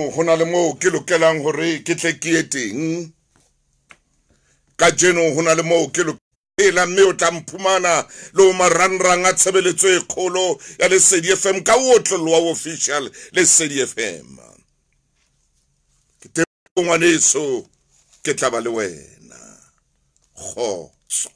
Ho na le moo ke lokelang hore ke tle ke ye teng. Kajeno ho na le moo ke lokela, mme o tla mphumana le ho marangrang a tshebeletso e kgolo ya Lesedi FM ka otloloha official Lesedi FM. Ke teng ngwaneso, ke tla ba le wena. Kgotso.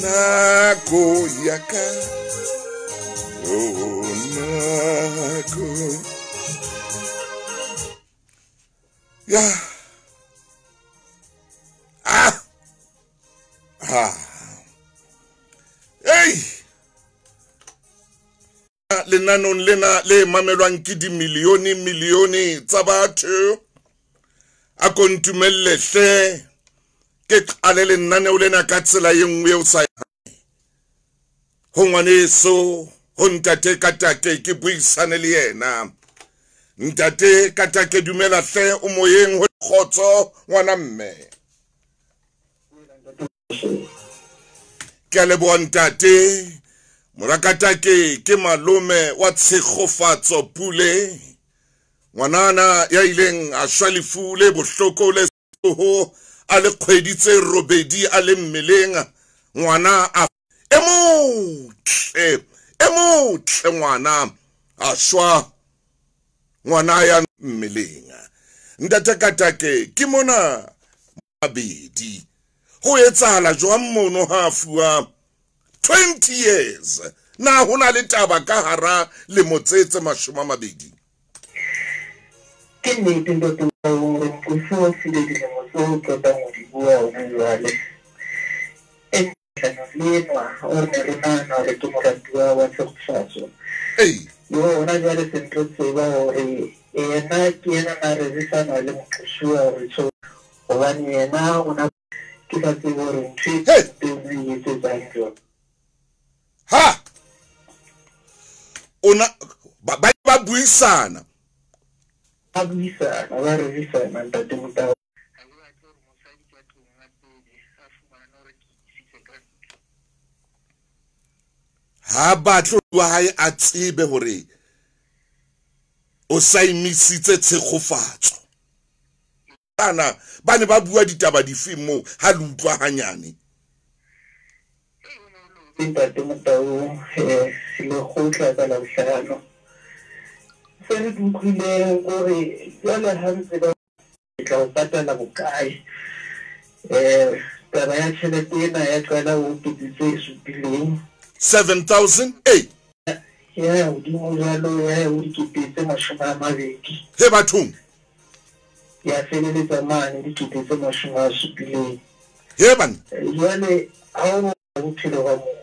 Nako ya ka, oh nako ya, ah ah, hey, lenanong lena le mamelwang ke dimilione milione tsa batho, a ko ntumelle hle ke qale lenaneo lena ka tsela e nngwe eo sa ho ngwaneso, ho ntate Katake, ke buisane le yena. Ntate Katake, dumela hle, o moyeng, ho kgotso ngwana mme. Ke a leboha ntate. Mora Katake ke malome wa Tshegofatso Pule, ngwanana ya ileng a shwa lefu le bohloko le ho a le kgwedi tse robedi a le mmeleng. Ngwana a e motle ngwana a shwa, ngwana ya mmeleng. Ntate Katake, ke mona mabedi ho etsahala jwang mono ha fuwa 20 years? Na ho na le taba ka hara lemo tse 20? Ke nnete ntate hore mqosi wa file dilemo tseo qetang ho di bua hona jwale. Le enwa o re ne re nahana hore ke moratuwa wa Tshegofatso. Yo hona jwale se ntlo tseba hore yena ke yena na rerisana le moqosuwa hore so, hobane yena o na ke sa tsebe hore ntho e teng e etsetsang jwang. Ha ona ba buisana, ba buisana, ba rerisana ntate Motau. Ha batle wa hae a tsebe hore o sa imisitse Tshegofatso. Bana ba ne ba bua ditaba dife moo ha le utlwa hanyane? Ntate Motau, lekgotla ka Labohlano se re utlwileng hore jwale ha ntse ba tla o patala bokae, taba ya tjhelete ena ya qala ho kete tse supileng, 7,000 eh ya hodimo jwalo ya ho dikete tse 20. He bathong, ya feleletsa mane dikete tse 70. He bana, jwale ha o bophelo ba motho,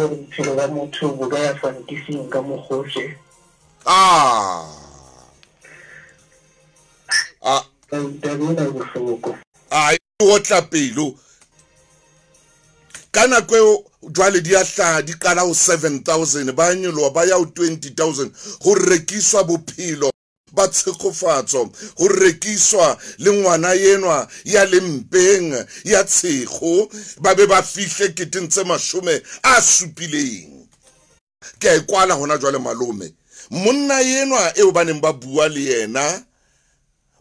bophelo ba motho bo ka ya fantising ka mokgohle. Taba ena e bohloko. A otla pelo ka nako eo jwale di a hlaha, di qala ho 7,000, ba nyoloha ba ya ho 20,000. Ho rekiswa bophelo ba Tshegofatso, ho rekiswa le ngwana enwa ya lempeng ya Tshego, ba be ba fihle keteng tse 70. Ke a e kwala hona jwale malome. Monna enwa eo ba neng ba bua le yena,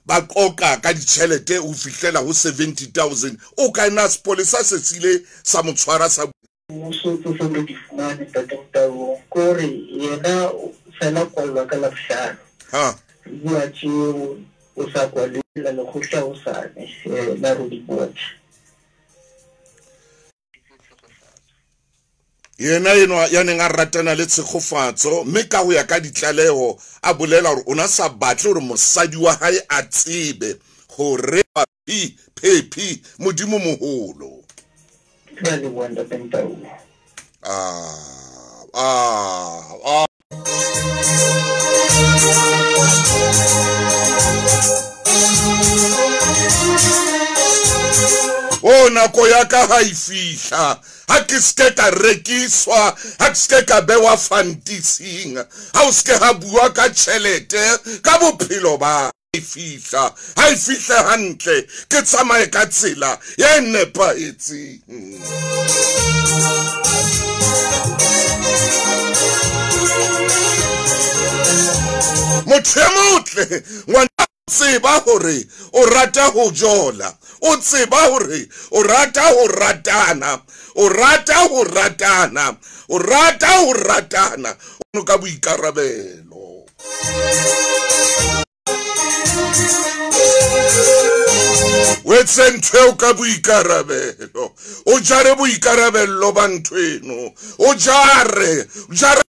ba qoqa ka ditjhelete ho fihlela ho 70,000, o ka ena sepolesa se sile sa mo tshwara sa mmuso tse seng re di fumane ntate Motau, ke hore yena fela kwallwa ka Labohlano. Bua tjeo o sa kwalela lekgotla hosane la Roodepoort. Yena enwa ya neng a ratana le Tshegofatso, mme ka ho ya ka ditlaleho a bolela hore o na sa batle hore mosadi wa hae a tsebe hore phephi Modimo moholo. Ke a leboha ntate Motau. Nako ya ka ha e fihla, ha ke se ka rekiswa, ha ke se ka bewa fantising, ha o se ha bua ka tjhelete ka bophelo ba e fihla, ha e fihle hantle, ke tsamaye ka tsela e nepahetseng. Motho e motle ngwana, tseba hore o rata ho jola, o tseba hore o rata ho ratana, o rata ho ratana, o rata ho ratana, o ka boikarabelo. O etse ntho eo ka boikarabelo, o jare boikarabello ba ntho eno, o jare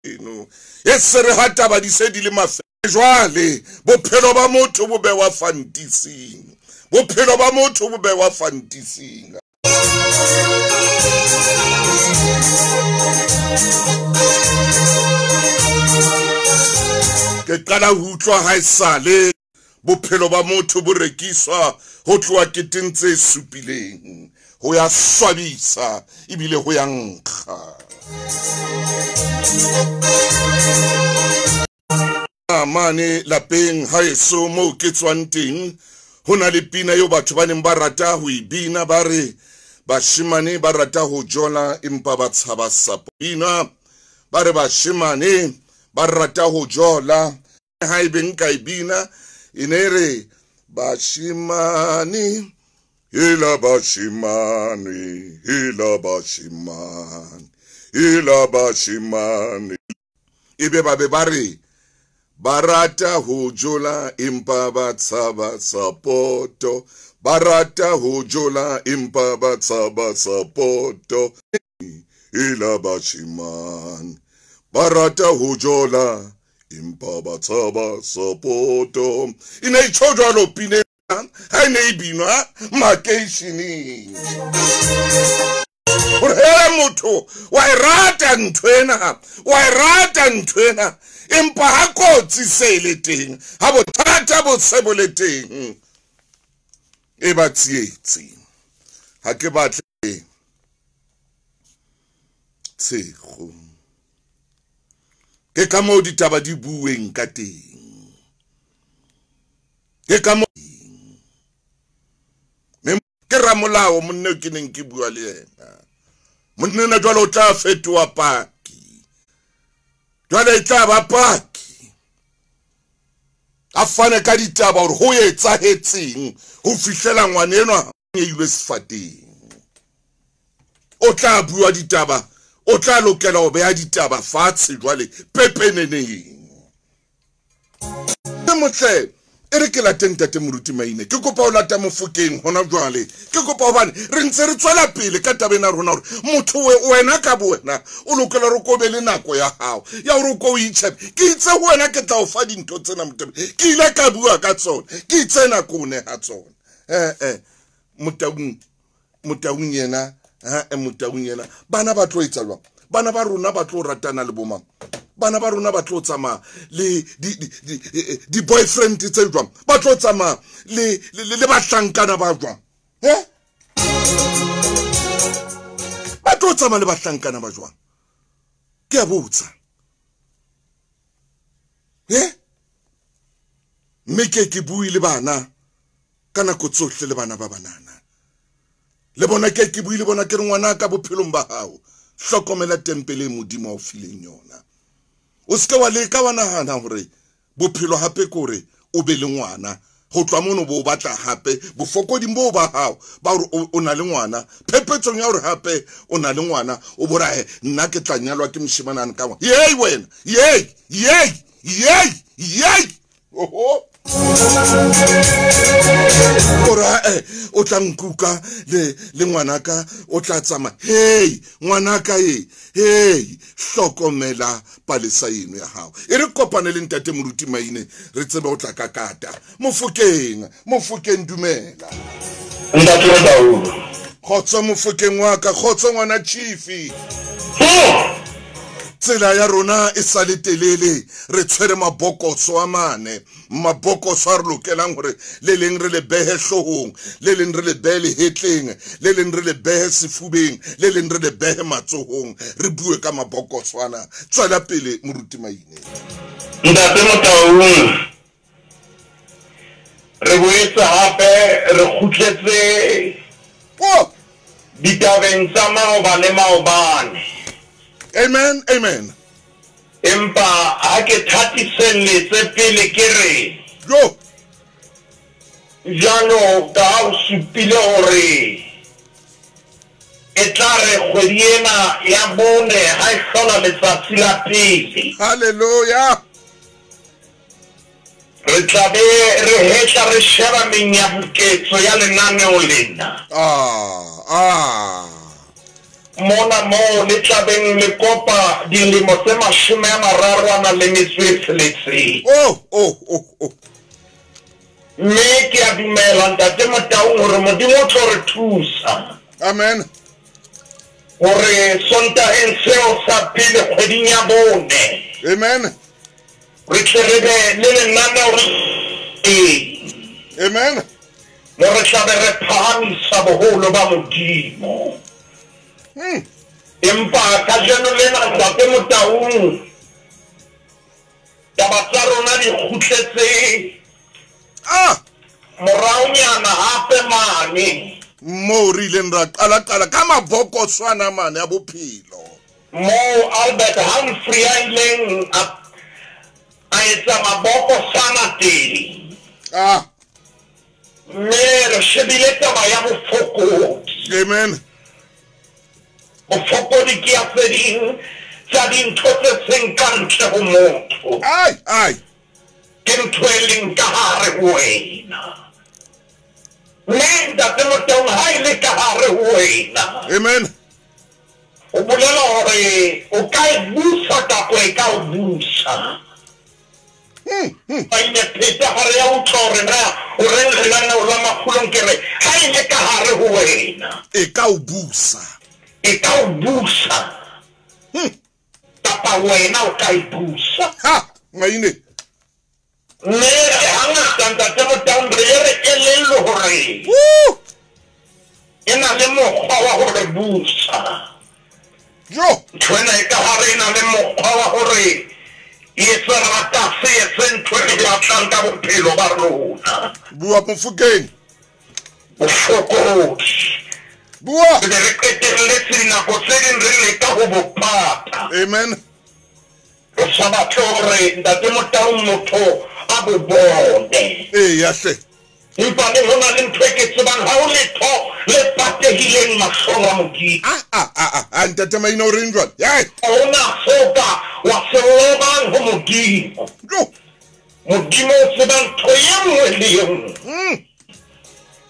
eno, e se re ha taba di se di le mafe. Jwale bophelo ba motho bo bewa fantising, bophelo ba motho bo bewa fantising. Ke qala ho utlwa ha esale bophelo ba motho bo rekiswa ho tloha keteng tse supileng, ho ya swabisa ebile ho ya nkga. Mane lapeng haeso moo ke tswang teng, ho na le pina eo batho ba neng ba rata ho e bina, ba re bashemane ba rata ho jola empa ba tshaba sapo. Bina ba re bashemane ba rata ho jola, ha ebe nka e bina e ne re bashemane hela bashemane hela bashemane hela bashemane, ebe ba be ba re ba rata ho jola empa ba tshaba sapoto, ba rata ho jola empa ba tshaba sapoto, hela bashemane ba rata ho jola empa ba tshaba sapoto. E ne e tjho jwalo pina ha e ne e binwa makeisheneng. Hore he motho wa e rata ntho ena, wa e rata ntho ena, empa ha kotsi se le teng, ha bothata bo se bo le teng, e ba tsietsi. Ha ke batle tshego. Ke ka moo ditaba di bueng ka teng. Ke ka moo ke ramolao monna ke neng ke bua le yena. Monna ena jwale o tla fetoha paki. Jwale e tla ba paki. A fane ka ditaba hore ho etsahetseng ho fihlela ngwana enwa a ilwe sefateng. O tla bua ditaba, o tla lokela ho beha ditaba fatshe jwale pepeneneng. Motle e re ke late ntate Moruti Maine, ke kopa o lata Mofokeng hona jwale. Ke kopa hobane re ntse re tswela pele ka taba ena rona hore motho wena ka bo wena o lokela hore o be le nako ya hao ya hore o ko o itjhebe. Ke itse ho wena ke tla o fa dintho tsena motho, ke ile ka bua ka tsona, ke itse nako o neha tsona. Motaung yena, Motaung yena, bana ba tlo etsa jwang? Bana ba rona ba tlo ratana le bomang? Bana ba rona ba tlo tsamaya le di boyfriend tse jwang? Ba tlo tsamaya le bahlankana ba jwang? Ba tlo tsamaya le bahlankana ba jwang? Ke a botsa. Mme ke bue le bana ka nako tsohle, le bana ba banana. Le bona ke bue le bona ke re ngwana ka bophelong ba hao, hlokomela tempele e Modimo a o fileng yona. O se ke wa leka wa nahana hore bophelo hape ke hore o be le ngwana, ho tloha mono bo batla hape bofokoding bo ba hao ba hore o na le ngwana, phepetsong ya hore hape o na le ngwana, o bo re nna ke tla nyalwa ke moshemane a nka ngwana. Yey wena, yey, yey, yey, yey. Oho. Ora o tla nkuka le ngwanaka o tla tsamaya. Hey ngwanaka e, hey hlokomela palesa eno ya hao. E re kopane le ntate Moruti Maine re tsebe o tla kakata. Mofokeng, Mofokeng dumela. Ntate wa Taolo. Kgotso Mofokeng wa ka, kgotso ngwana Chief. Tsela ya rona e sa le telele, re tshwere mabokoso a mane, mabokoso a re lokelang hore le leng re le behe hloohong, le leng re le behe lehetleng, le leng re le behe sefubeng, le leng re le behe matsohong. Re bue ka mabokoso ana. Tswela pele Moruti Maine. Ntate Motaung, re boetse hape re kgutletse ditabeng tsa maoba le maobane. Amen, amen. Empa ha ke thatiselletse pele ke re, Jo. Jwalo ka ha o supile hore e tla re kgwedi ena ya bone ha e hlola letsatsi la pele. Hallelujah. Re tla be re hetla re sheba menyabuketso ya lenaneo lena. Mona moo le tla beng le kopa dilemo tse 30 a nang le metso e 6. Oh. Mme ke a dumela Ntate Motaung hore Modimo o tlo re thusa. Amen. Hore Sontaheng seo sa pele kgweding ya bone. Amen. Re tle re be le lenaneo teng. Amen. Mo re tla be re phahamisa boholo ba Modimo. Empa kajeno lena Ntate Motaung, taba tsa rona di kgutletse moraonyana hape mane. Moo re ileng ra qala-qala ka mabokoswana mane a bophelo. Moo Albert Humphrey a ileng a etsa mabokosana teng. Mme re shebile taba ya bofokodi. Amen. Bofokodi ke ya tse ding tsa dintho tse seng ka ntle ho motho. Ai. Ke ntho e leng ka hare ho wena. Mme Ntate Motaung ha e le ka hare ho wena. Amen. O bolela hore o ka e busa kapa e ka o busa. Ba ile pheta hare ya utlwa hore na o reng lenaneo la makgulong, ke re ha e le ka hare ho wena. E ka o busa. E ka o busa. Kapa wena o ka e busa. Ha, Maine. Mme hangata Ntate Motaung re ye re elellwe hore e na le mokgwa wa hore busa. Jo. Ntho ena e ka hare e na le mokgwa wa hore e etse rata se etse ntho e batlang ka bophelo ba rona. Bua Mofokeng. Bofokodi. Bua. Re be re qetelletse dinako tse ding re leka ho bo pata. Amen. Re sa batle hore Ntate Motaung motho a bo bone. Eya hle. Empa le ho na le ntho e ke tsebang, ha ho letho le patehileng mahlong a Modimo. Ntate Maine o reng jwale? Ha hona seo ka wa se lobang ho Modimo. Modimo o tseba ntho e nngwe le e nngwe.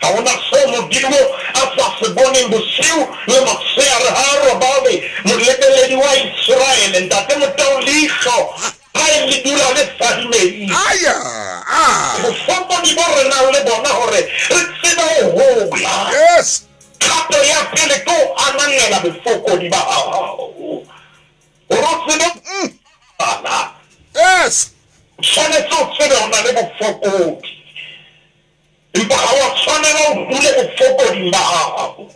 Ha hona seo Modimo a sa se boneng bosiu le motshehare ha a robale. Molebeledi wa Iseraele, Ntate Motaung, leihlo ha e le dula le fadimehile. Bofokodi bo re nang le bona hore re tsebe ho hola. Yes. Kgato ya pele ke ho ananela bofokodi ba hao. Hore o tsebe bala. Yes. O tshwanetse o tsebe ho na le bofokodi. Empa ha wa tshwanela o dule bofokoding ba hao.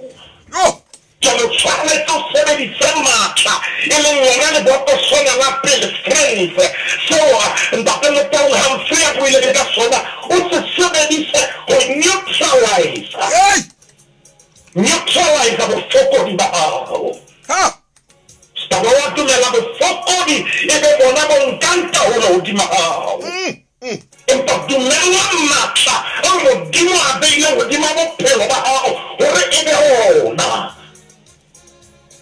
Jwale o tshwanetse o sebedise matla, e leng lona lebokoswana la pele, strength, seo Ntate Motaung Humphrey a buileng ka sona, o se sebedise ho neutralize. Neutralize bofokodi ba hao. Ska ba wa dumela bofokodi e be bona bo nkang taolo hodima hao. Empa dumela matla ao Modimo a beileng hodima bophelo ba hao hore e be ona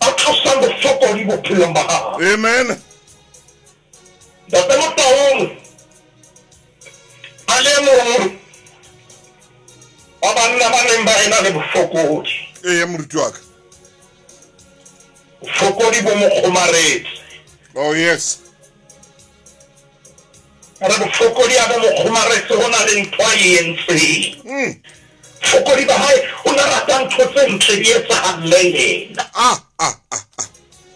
a tlosang bofokodi bophelong ba hao. Amen. Ntate Motaung a le mong wa banna ba neng ba ena le bofokodi. Eya moruti wa ka. Bofokodi bo mo kgomaretse. Oh yes. Re bofokodi a bo mo kgomaretse, ho na le ntho a e entseng. Bofokodi ba hae, o na rata ntho tse ntle di etsahalle yena.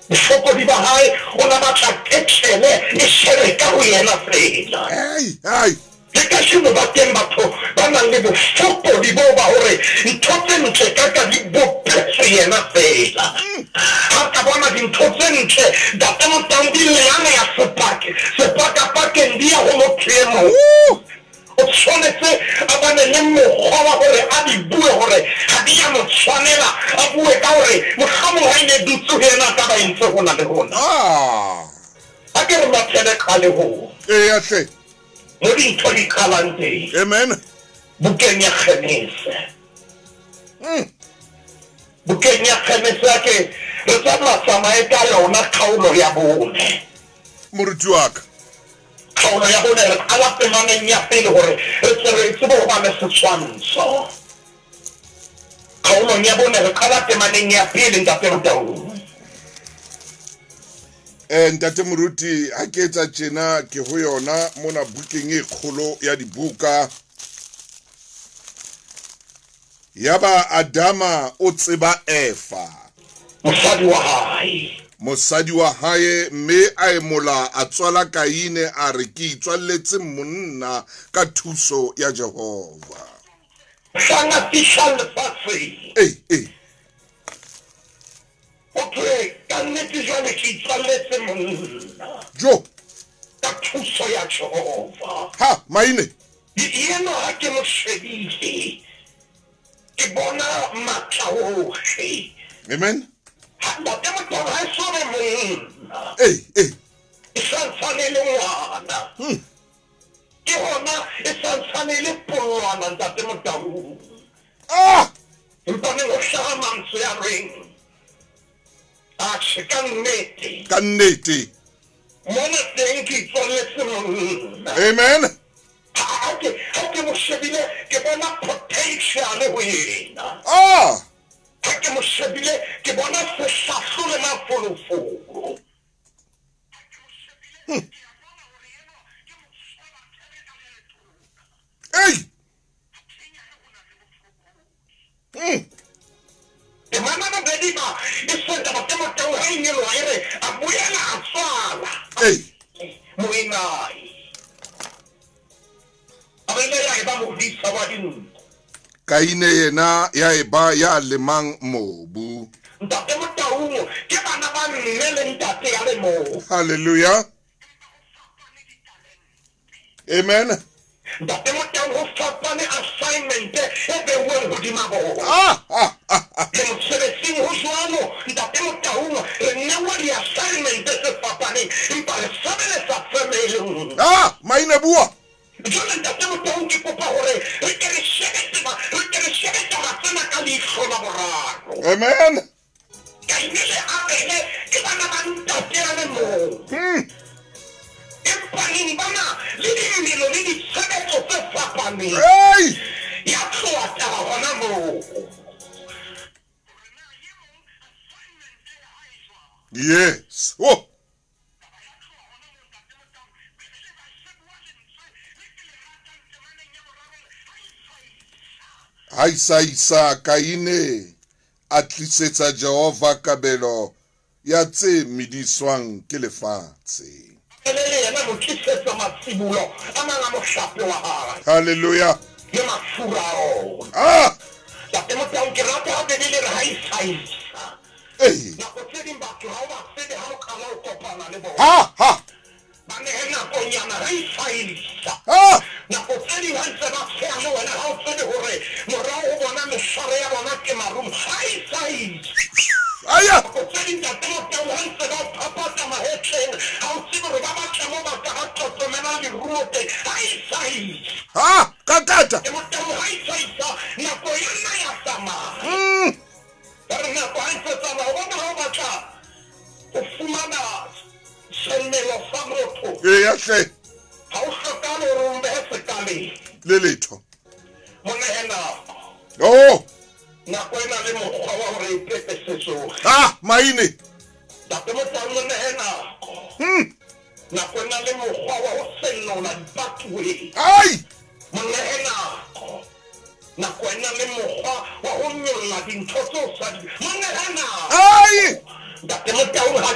Bofokodi ba hae, o na batla ketlele e shebe ka ho yena feela. Ai, ai. Le kajeno ba teng batho ba nang le bofokodi boo ba hore ntho tse ntle ka ka di bopetswe yena feela. Ha ka bona dintho tse ntle, Ntate Motaung, di lealeya sepake, sepakapakeng di ya ho motho e mong. O tshwanetse a bane le mokgwa wa hore a di bue hore ha di ya mo tshwanela, a bue ka hore mohlomong ha e ne dutse ho yena a ka ba entse hona le hona. A ke re mathele qalehong. Eya hle. Mo dintho di qalang teng. Amen. Bukeng ya Genese. Bukeng ya Genese a ke re tsamaya tsamaye ka yona kgaolo ya bone. Moruti wa ka. Kgaolo ya bone re qala temaneng ya pele hore re tle re tsebe ho ba le setshwantsho. Kgaolong ya bone re qala temaneng ya pele, Ntate Motaung. Ntate Moruti, ha ke etsa tjena ke ho yona mona bukeng e kgolo ya dibuka. Yaba Adama o tseba Eva, Mosadi wa hae. Mosadi wa hae, mme a emola a tswala Kaine, a re, ke itswalletse monna ka thuso ya Jehova. Mohlang a fihlang lefatsheng. Ee, ee. Ho thwe, ka nnete jwale ke itswalletse monna. Jo! Ka thuso ya Jehova. Ha, maine. Yena ha ke mo shebile, ke bona matla ohle. Amen. Ha, Ntate Motaung ha e so be monna. Ee, ee. E santsane e le ngwana. Ke hona e santsane e le pollwana, Ntate Motaung. Ah! Empa neng ho hlaha mantswe a reng, Atjhe, ka nnete. Ka nnete. Mona teng ke itswalletse monna. Amen. Ha ke, ha ke mo shebile, ke bona potential ho yena. Ah! Ha ke mo shebile, ke bona sehlahlo le mafolofolo. Ei! Temana bobedi ba e senta ba Timotheo ha e nyoloha e re a boela a tswala Ei! moenae. Abele ya eba modisa wa dinku. Kaine yena ya eba ya lemang mobu. Ntate Motaung ke bana ba mme le ntate ya le mong. Hallelujah. Amen. Ntate Motaung ho fapane assignment e beuweng hodima bona. Ah, ah, ah, ah. Le mosebetsing ho jwalo, Ntate Motaung, re newa di-assignment tse fapaneng, empa re sebeletsa firm e le nngwe. Ah, maine bua. Jwale Ntate Motaung ke kopa hore re ke re shebe tseba, re ke re shebe taba tsena ka leihlo la boraro. Amen. Kaine le Abele ke bana ba ntate a le mong. Empa neng ba na le dimelo le ditshebetso tse fapaneng. Hey! Ya tloha taba hona moo. Yes. Oh. Ha isa isa Kaine a tlisetsa Jehova kabelo ya tse mediswang ke lefatshe. Ele le yena mo tlisetsa matsibolo a mang a mohlape wa hae. Hallelujah. Le mafura a ona. Ah! Ntate Motaung, ke rata ha Bibele e re ha isa isa. Ei. Nako tse ding batho ha o ba tsebe ha o qala ho kopana le bona. Ha, ha. Ba nehe nakonyana ha isa isa. Ha! Nako tse ding ha ntse ba tsheha le wena ha o tsebe hore morao ho bona mehlare ya bona ke marumo. Ha isa isa. Aya! Nako tse ding Ntate Motaung ha ntse ba o phaphatha mahetleng ha o tsebe hore ba batla mo ba ka ba tlotlomela leruo teng. Ha isa isa. Ha! Kakata! Ntate Motaung ha isa isa nako ya nna ya tsamaya. Ba re nako ha ntse tsamaya o bona ha o batla ho fumana semelo sa motho. Eya hle. Ha o hlokahale hore o mbehe sekaleng. Le letho. Mo nehe nako. Oh! Nako e na le mokgwa wa hore e pepese tsohle. Ah, maine. Ntate Motaung, mo nehe nako. Nako e na le mokgwa wa ho senola dipatuweng. Ai! Mo nehe nako. Nako e na le mokgwa wa ho nyolla dintho tseo sa di. Mo nehe nako. Ai! Ntate Motaung ha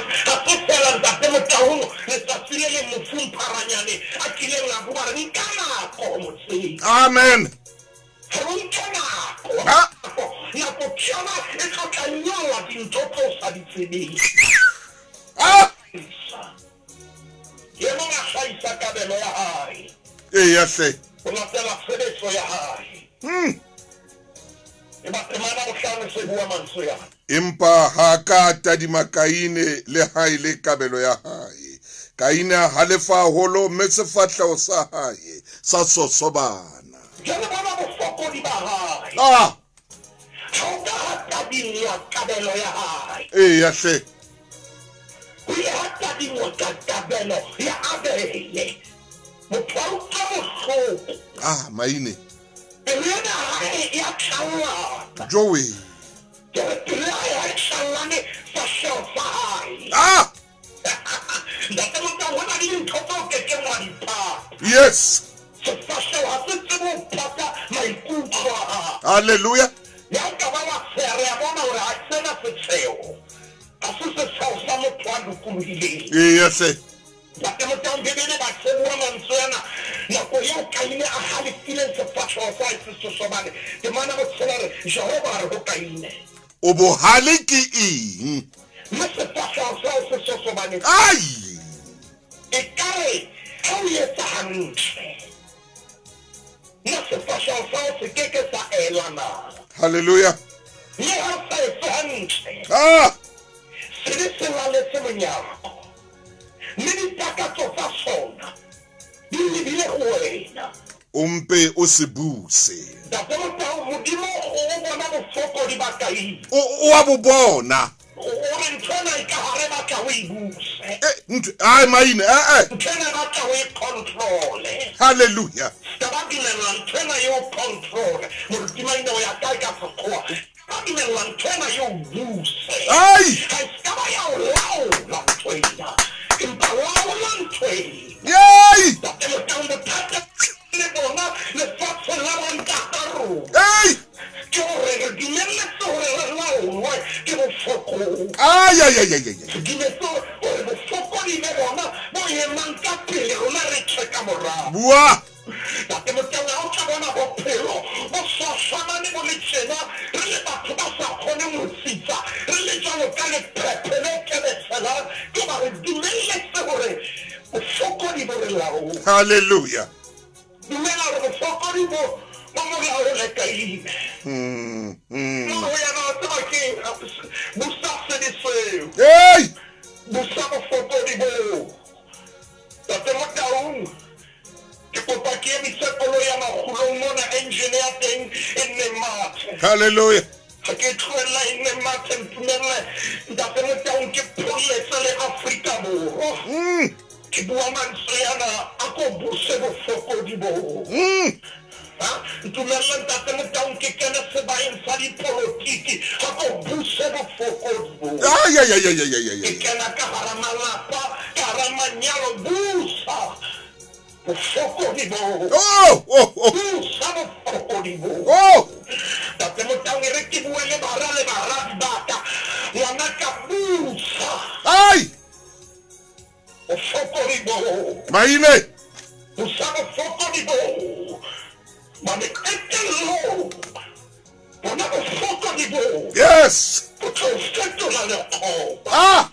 se fela Ntate Motaung letsatsi le leng mofu Mpharanyane a kileng a bua re nka nako motseng. Amen. Re nke nako. Nako ke yona e tlo tla nyolla dintho tse o sa di tsebeng. E mong a hlahisa kabelo ya hae. Eya hle. Ho latela tshebetso ya hae. E ba temana bohlano se bua mantswe ana. Empa ha ka tadima Kaine le ha e le kabelo ya hae. Kaine a halefa haholo mme sefahleho sa hae sa sosobana. Jwale bona bofokodi ba hae. Ha o ka ha tadingwa kabelo ya hae. Eya hle. Ho ile ha tadingwa ka kabelo ya Abele. Motho a utlwa bohloko. Maine. Pelo ena hae ya tlallana. Joey. Ke re pelo ya hae ha e tlallane fahleho sa hae. Ntate Motaung, ho na le dintho tseo ke keng wa di pata. Yes. Sefahleho ha se tsebe ho pata maikutlo a hao. Hallelujah. Le ha o ka ba wa tsheha, re a bona hore ha sena setsheho. Ha se setsheho sa motho a lokolohileng. Eya hle. Ntate Motaung, Bibele ba se bua mantswe ana nako eo Kaine a halefileng sefahleho sa hae se sosobane. Temana botshela re, Jehova a re ho Kaine. O bohale ke eng? Mme sefahleho sa hao se sosobane. Ai! Ekare ha o etsa hantle, na sefahleho sa hao se ke ke sa ela na? Hallelujah. Mme ha o sa etse hantle, sebe se laletse monyako, mme ditakatso tsa sona di lebile ho wena. O mpe o se buse. Ntate Motaung, Modimo o bona bofokodi ba Kaine. O a bo bona. O re ntho ena e ka hare batla o e buse. Ntho, ai maine, eh. Ntho ena e batla o e controle. Hallelujah. Ska ba dumella ntho ena e o controle. Moruti Maine o ya kae ka sekgowa? Ba dumella ntho ena e o buse. Ai! Ha e ska ba ya o laola ntho ena. Empa laola ntho ena. Yay! Ntate Motaung, bothata le bona lefatsheng la bontata rona. Ei! Ke hore re dumelletse hore re laolwe ke bofokodi. Ai, ai, ai, ai, ai. Re dumetse hore bofokodi be bona bo emang ka pele, rona re tjhe ka morao. Bua! Ntate Motaung, ha o tla bona bophelo bo swaswanane bo le tjena, re le batho ba sa kgoneng ho tsitsa, re le jwalo ka lephephe le kebetshelang, ke hoba re dumelletse hore bofokodi bo re laole. Hallelujah. Dumela hore bofokodi bo bo mo laole Kaine. No ho yena o tseba ke busa sebe seo. Hey! Busa bofokodi bo. Ntate Motaung, ke kopa ke emise koloi ya makgulong mona, engine ya teng e nne mathe. Hallelujah. Ha ke tlohella e nne mathe, ntumelle Ntate Motaung ke pholletse le Afrika Borwa. Ke bua mantswe ana a ko buse bofokodi bo. Ntumelle Ntate Motaung ke kene sebaeng sa dipolotiki, ha ko buse bofokodi bo. Ai, ai, ai, ai, ai, ai, Ke kena ka hara malapa, ka hara manyalo, busa bofokodi bo. Oh, oh, oh. Busa bofokodi bo. Oh. Ntate Motaung, e re ke bue le bara le baradi ba ka, ngwana ka busa. Ai! Bofokodi bo. Maine! Busa bofokodi bo. Mane qetellong, bona bofokodi bo. Yes! Bo tlo fetola lekgoba.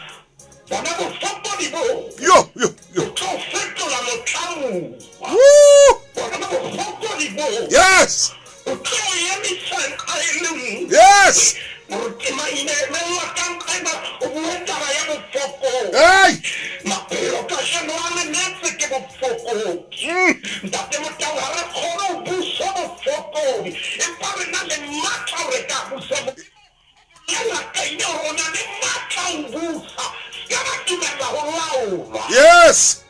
Bona bofokodi bo. Yo, yo, yo. Bo tlo fetola motlamuwa. Woo! Bona bofokodi bo. Yes! Bo tlo emisa nqa e le nngwe. Yes! Moruti Maine, emella ka nqa ena, o bue taba ya bofokodi. Hey! Maphelo kajeno a lemetse ke bofokodi. Ntate Motaung, ha re kgone ho busa bofokodi, empa re na le matla hore ka busa bofokodi. Yena Kaine hore o na le matla ho busa, ska ba dumella ho laolwa. Yes!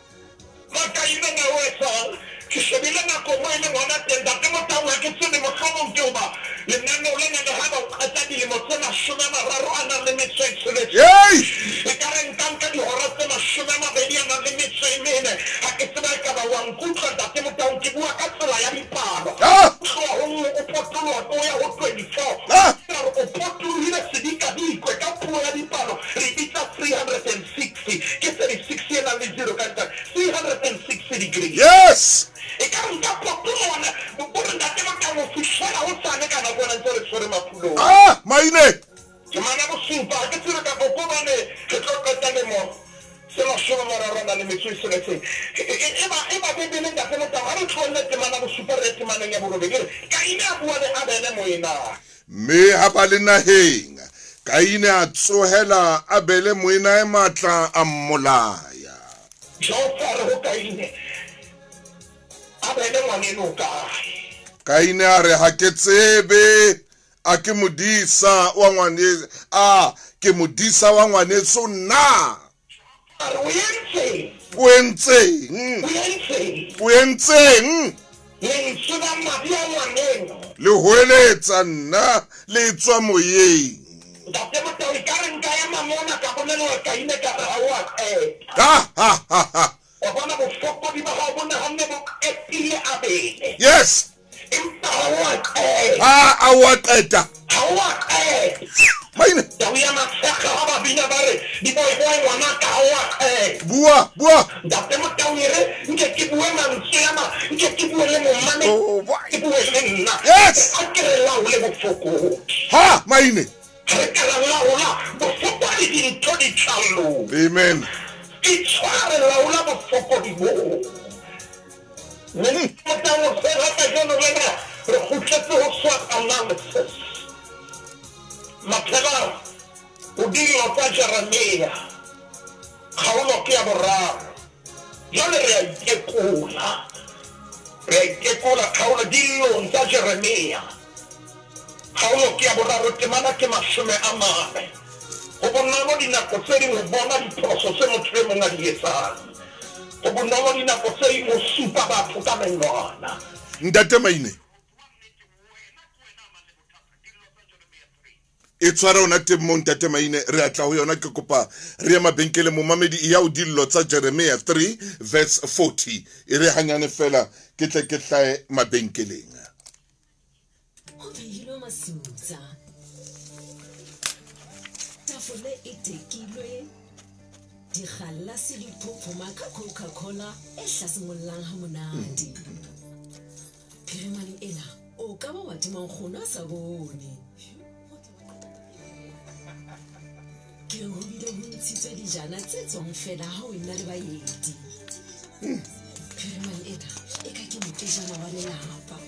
Makaine na o etsang? Ke shebile nako mo e leng hona teng, Ntate Motaung, ha ke tsebe mohlomong ke hoba lenaneo lena le ha ba o qeta dilemo tse 30 a nang le metso e tsheletseng. Hey! Ekare nka nka dihora tse 20 a nang le metso e mene. Ha ke tseba ekaba wa nkutlwa Ntate Motaung, ke bua ka tsela ya dipalo. Tloha ho nngwe o potoloha o ya ho 24. O potolohile sedikadikwe ka puo ya dipalo, re bitsa kgaolong. Ah, Maine! Temana bosupa, ha ke tsebe kapa ko hobane re tlo qeta lemo se mashome a mararo a nang le metso e tsheletseng. Eba, eba Bibele, Ntate Motau, ha re tlohelle temana bosupa re ye temaneng ya borobedi. E re, Kaine a bua le Abele moenae. Mme ha ba le naheng, Kaine a tsohela Abele moenae matla, a mmolaya. Jehova a re ho Kaine, Abele ngwaneno o kae? Kaine a re, Ha ke tsebe, a ke modisa wa ngwane, a ke modisa wa ngwaneso na? A re, O entseng? O entseng? O entseng? O entseng? Lentswe la madi a ngwaneno. Le hoeletsa nna le tswa moyeng. Ntate Motau, ekare nka ema mona ka bolella Kaine ka re ha o a qeta. Ha, ha, ha, ha. Wa bona, bofokodi ba hao bo nahanne bo qetile Abele. Yes. Empa ha o a qeta. Ha a o a qeta. Ha o a qeta. Maine. Tau ya Matshekga ha ba bina ba re, Diboiboy ngwanaka ha o a qeta. Bua, bua. Ntate Motau e re nke ke bue mantswe ana, nke ke bue le momamedi, Oh, boy. ke bue le nna. Yes. A ke re laole bofokodi. Ha, Maine. Ha re ka ra laola bofokodi dintho di tla loka. Amen. Itshware, laola bofokodi boo. Mme Motau hoseng ha kajeno lena re kgutletse ho SWOT analysis. Maphela ho dillo tsa Jeremia, kgaolo ke ya boraro. Jwale re a itekola. Re a itekola kgaolo dillong tsa Jeremia. Kgaolo ke ya boraro, temana ke 40. Ho bonolo dinako tse ding ho bona diphoso tse motho e mong a di etsang. Ho bonolo dinako tse ding ho supa batho ka menwana. Ntate Maine, e tshware ona teng moo Ntate Maine, re a tla ho yona. Ke kopa re ye mabenkeleng. Momamedi, e ya ho dillo tsa Jeremia 3 verse 40. E re hanyane fela ke tle ke hlae mabenkeleng. Ho phehilwe masutsa, tafole e tekilwe, digalase di phophoma ka Coca-Cola e hlasimollang hamonate. Phirimaneng ena o ka ba wa tima nkgono a sa bone. Ke re ho bile ho ntshitswe dijana tse tswang feela ha o ena le baeti. Phirimane ena e ka ke mokejana wa lelapa.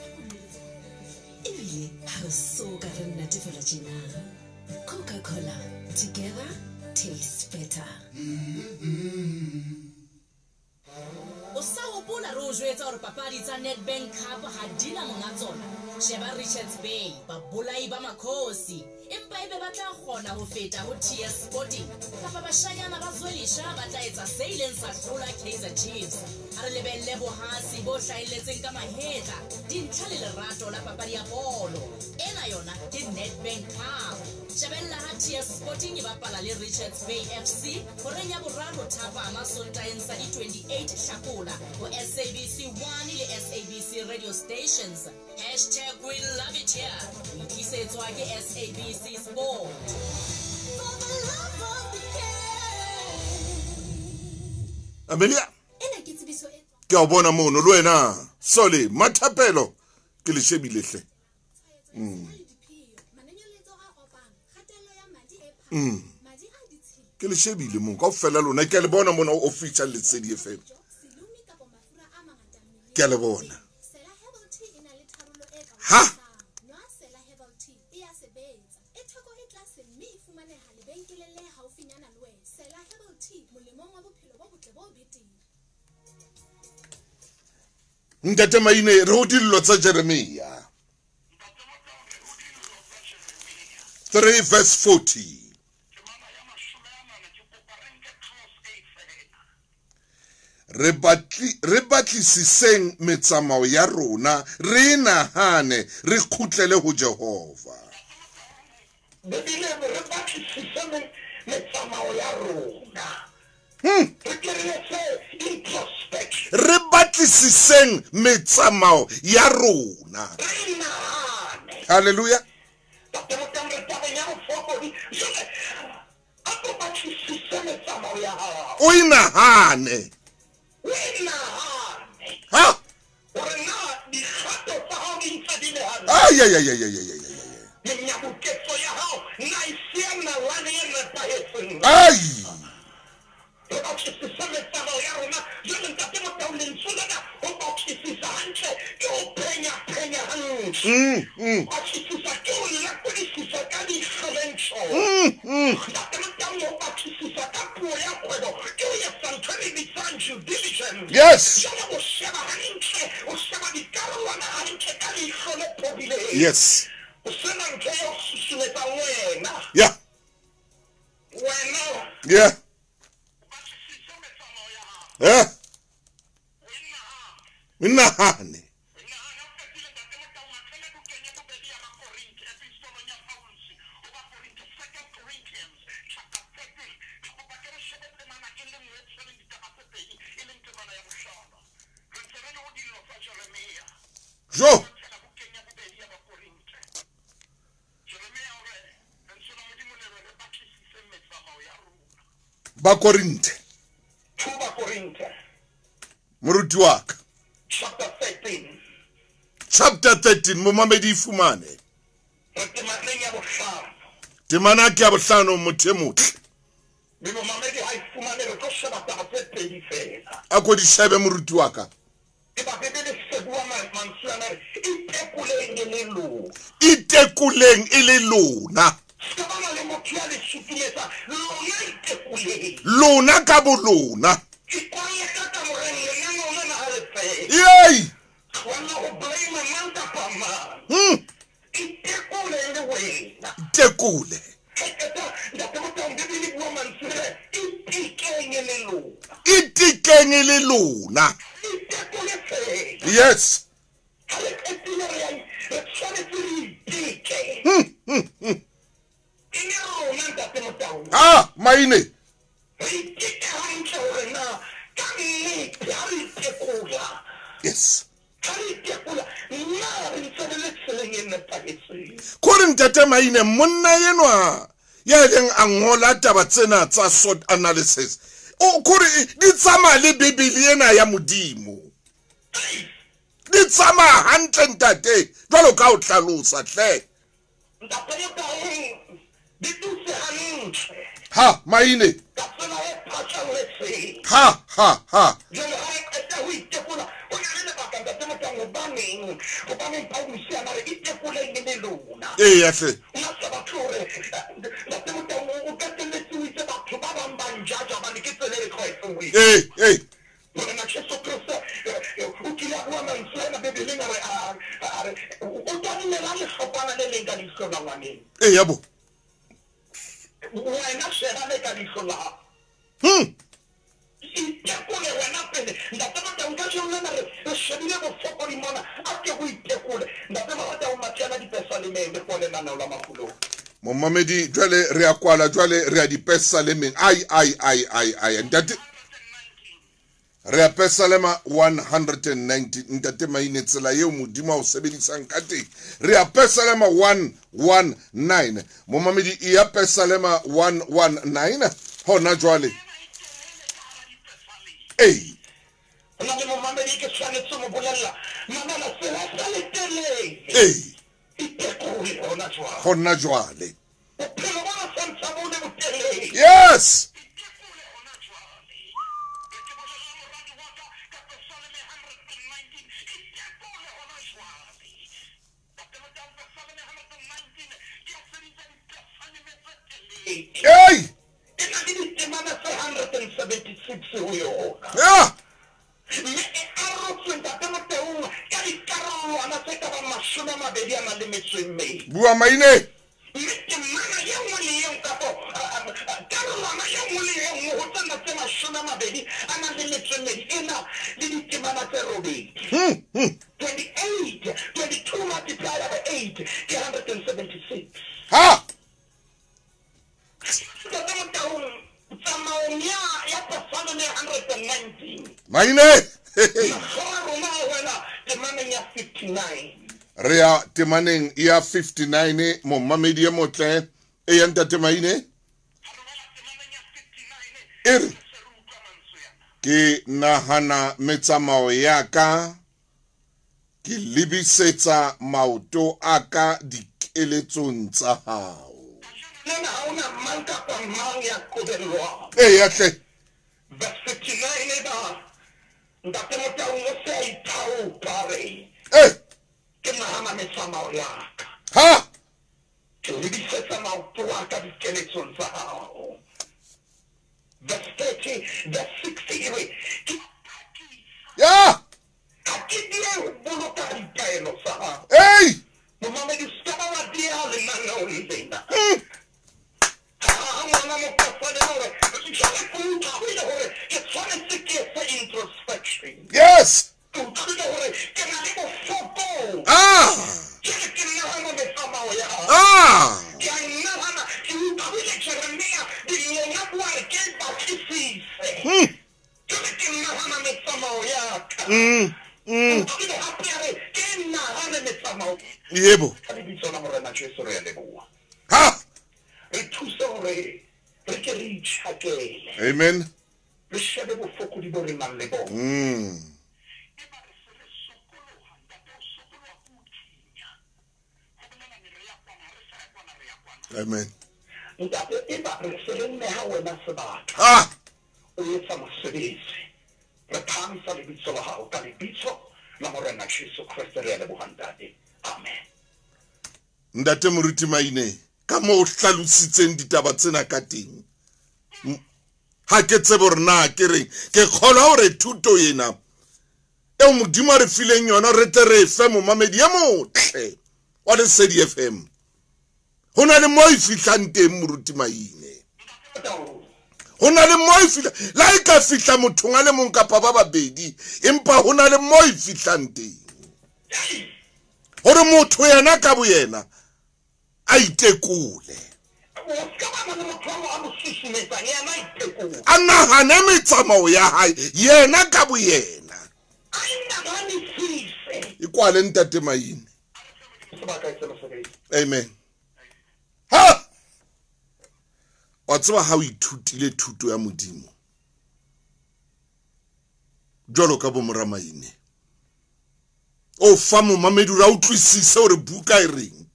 Ebile ha re so ka re natefelwa tjena. Coca-Cola, together tastes better. O sa hopola re o jwetsa hore papadi tsa Nedbank Cup ha di na monga tsona? Sheba Richards Bay, babolai ba Makhosi. Empa ebe ba tla kgona ho feta ho TS Sporting? Kapa bashanyana ba Zwelisha ba tla etsa se ileng sa hlola Kaizer Chiefs? Ha re lebelle bohasi bo hlahelletseng ka mahetla, dintlha le lerato la papadi ya bolo. Ena yona ke Nedbank Cup. Shebella ha TS Sporting e bapala le Richards Bay FC horeng ya boraro thapama Sontaheng sa di 28 Hlakola ho SABC 1 le SABC Radio Stations. Hashtag we love it here. O itlisetswa ke SABC Sport. For the love of the game. Amelia. Ena ke tsebiso e tswang. Ke a o bona mono le wena. Sole, Mathapelo ke le shebile hle. Ke le shebile moo kaofela lona, ke a le bona mona ho official Lesedi FM. Ke a le bona. Ha? Ntate Maine, re ho dillo tsa Jeremia 3 verse 40. Re batlisiseng metsamao ya rona, re nahane, re kgutlele ho Jehova. Bibele re batlisise metsamao ya rona. Re ke re etse introspection. Re batlisiseng metsamao ya rona. Re nahane. Hallelujah. Ntate Motau, re tabeng ya bofokodi. Jwale, a ko batlisise metsamao ya hao. O inahane. O inahane. Ha? Hore na dikgato tsa hao di ntse di le hantle. Ay, ay, ay, ay, ay, ay, ay, ay, ay. Menyabuketsano lefatsheng. Ai! Re batlisise metsamao ya rona. Jwale Ntate Motau, lentswe lena ho batlisisa hantle ke ho phenya-phenya hantle. Batlisisa ke ho lekodisisa ka leihlo le ntjho. Ntate Motau, ho batlisisa ka puo ya kgwebo ke ho etsa ntho e re bitsang due diligence. Yes. Jwale o sheba hantle, o sheba dikarolwana hantle ka leihlo le phodileng. Yes. O sena ntho ya ho susumetsang wena. Yeah. Wena. Yeah. Eh? Nahane. Jo. Ba Korinthe. Moruti wa ka. Chapter 13. Chapter 13 momamedi fumane. Temana ke ya bohlano motho e motle. Mme momamedi ha e fumane re tlo sheba taba tse pedi fela. A ko di shebe moruti wa ka. E ba Bibele se bua mantswe ana re itekoleng e le lona. Itekoleng e le lona. Se ka bana le motho ya le sutumetsa, lona itekoleng. Lona ka bolona. Yay! Itekole. Itikeng le lona. Yes. Ah, maine. Yes. Kore ntate Maine monna enwa ya leng a ngola taba tsena tsa SWOT analysis. O kore di tsamaya le Bibele ena ya Modimo. Di tsamaya hantle ntate jwalo ka o hlalosa hle. Ha Maine. Ha ha ha. Eh ya hle. Eh eh. Eh ya bo. Momamedi jwale re a kwala jwale re a dipesalemeng. Ai ai ai ai ai ntate re a pesalema 190 ntate Maine tsela eo Modimo a o sebedisang ka teng. Re a pesalema 119 momamedi e ya pesalema 119 hona jwale. Ei ei hona jwale. Yes. Hey! Yeah. Bua Maine. 28, 22 multiplied by 8, 176. Ha! Maine. Re ya temaneng ya 59 momamedi e motle e ya ntate Maine. E re ke nahana metsamao ya ka ke lebisetsa maoto a ka dikeletsong tsa hao. Lena ha ona mang kapa mang ya qobellwang. Eya hle. Verse 59 e ba Ntate Motaung o se a ithaopa a re, Eh. Ke nahana metsamao ya ka. Ha. Ke lebisetsa maoto a ka dikeletsong tsa hao. Verse 30, verse 60 e re, Ke Ya. ha ke diehe ho boloka ditaelo tsa hao. Ei. Momamedi, o se ka ba wa dieha lenaneong lena. Ha ngwana mokgosane hore jwale ke utlwile hore ke tshwanetse ke etse introspection. Yes. Ke utlwile hore ke na le bofokodi. Ah. Jwale ke nahana metsamao ya hao. Ah. Ke a nahana, ke utlwile Jeremia dingonga bua re ke batlisise. Jwale ke nahana metsamao ya ka. Ke utlwile hape a re ke nahane metsamao. Yebo. Ka lebitso la Morena Jesu re a leboha. Ha. Re thuse hore re ke re itjhakele. Amen. Re shebe bofokodi bo re nang le bona. Eba re se re sokoloha, ntate, o sokoloha ke o thinya. Ho bolela ne re ya kwana, ha re sa ya kwana, re ya kwana. Amen. Ntate, eba re se re neha wena sebaka. Ah. O etsa mosebetsi. Re phahamisa lebitso la hao ka lebitso la Morena Jesu Kreste re a leboha ntate. Amen. Ntate Moruti Maine, ka moo o hlalositseng ditaba tsena ka teng. Ha ke tsebe hore na ke reng, ke kgolwa hore thuto ena eo Modimo a re fileng yona re tle re fe momamedi e motle wa Lesedi FM. Ho na le moo e fihlang teng Moruti Maine. Ho na le moo e fihla, la e ka fihla mothong a le mong kapa ba babedi, empa ho na le moo e fihlang teng. Hore motho yena ka boyena a itekole. A nahane metsamao ya hae yena ka boyena. E kwale ntate Maine. Amen. Ha! Wa tseba ha o ithutile thuto ya Modimo jwalo ka bo mora Maine, o fa momamedi hore a utlwisise hore buka e reng.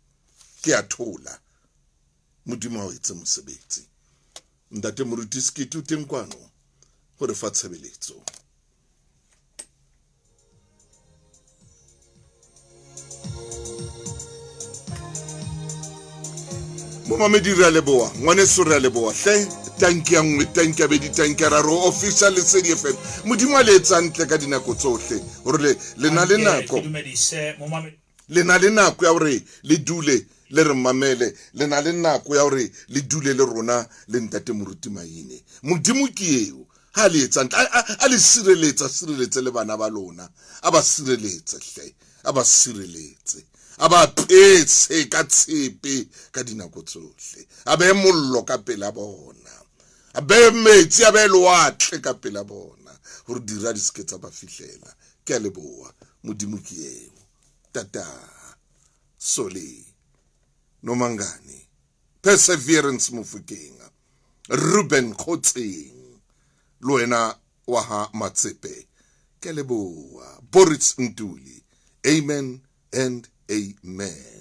Ke a thola. Modimo a o etse mosebetsi. Ntate Moruti Sekete o teng kwano ho re fa tshebeletso. Momamedi re a leboha, ngwaneso re a leboha hle. Tanki ya nngwe, tanki ya bedi, tanki ya raro, official Lesedi FM. Modimo a le etsa ntle ka dinako tsohle hore le na le nako. Le na le nako ya hore le dule le re mamele, le na le nako ya hore le dule le rona le ntate Moruti Maine. Modimo ke eo, ha le etsa ntle, a le sireletsa, sireletse le bana ba lona, a ba sireletse hle, a ba sireletse, a ba petse ka tshepe ka dinako tsohle, a behe mollo ka pela bona, a behe metsi, a behe lewatle ka pela bona, hore dira di se ke tsa ba fihlela. Ke a leboha, Modimo ke eo. Tata Soli Nomangani, Perseverance Mofokeng, Ruben Khotseng, le wena wa ha Matsepe, ke a leboha. Boris Ntuli, amen and amen.